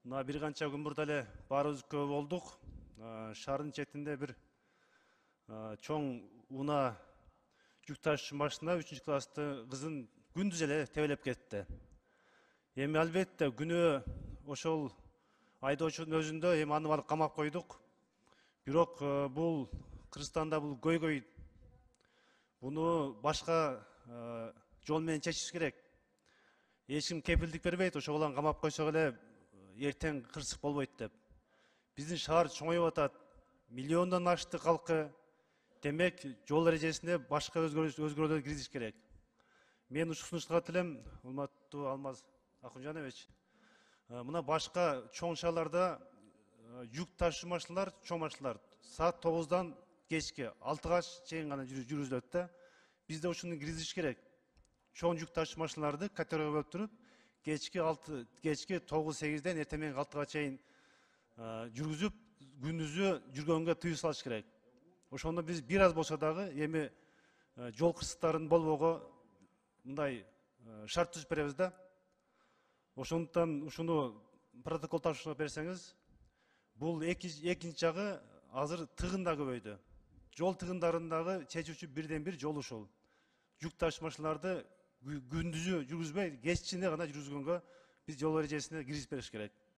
Мына бир канча күн мурда эле баарыбыз күбө болдук. Шаардын четинде бир чоң унаа жүк ташуучу машина 3-класстын кызын күндүз эле тебелеп кетти. Эми албетте күнөө ошол айдоочунун өзүндө эми аны барып камап койдук. Бирок бул Кыргызстанда бул көйгөй. Буну башка жол менен чечиш керек. Эч ким кепилдик бербейт, ошол баланы камап койсок эле эртең кырсык болбойт деп. Биздин шаар чоңоюп атат. Миллиондон ашты калкы. Демек, жол эрежесине башка өзгөрүүлөр киргизиш керек. Мен ушул сунуштарга элем, урматтуу Алмаз Акунжанович. Мына башка чоң шаарларда жүк ташуучу машиналар, чоң машиналар саат 9-дан кечки 6-га чейин гана жүргүзүлөт да. Бизде ушуну киргизиш керек. Чоң жүк ташуучу машиналарды категорияга бөлүп туруп, кечки 9-8-ден эртең менен 6-га чейин жүргүзүп, күндүзү жүргөнгө тыюу салыш керек. Ошондо биз бир аз болсо дагы эми жол кырсыктарын болбоого мындай шарт түзүп беребиз да. Ошондуктан ушуну протокол тапшырып берсеңиз, бул экинчи жагы азыр тыгын да көбөйдү. Жол тыгындарындагы чечүүчү бирден бир жол ушул. Жүк ташуучу машиналарды күндүзү жүргүзбөй, кечинде гана жүргүзгөнгө биз жол эрежесине киргизип бериш керек.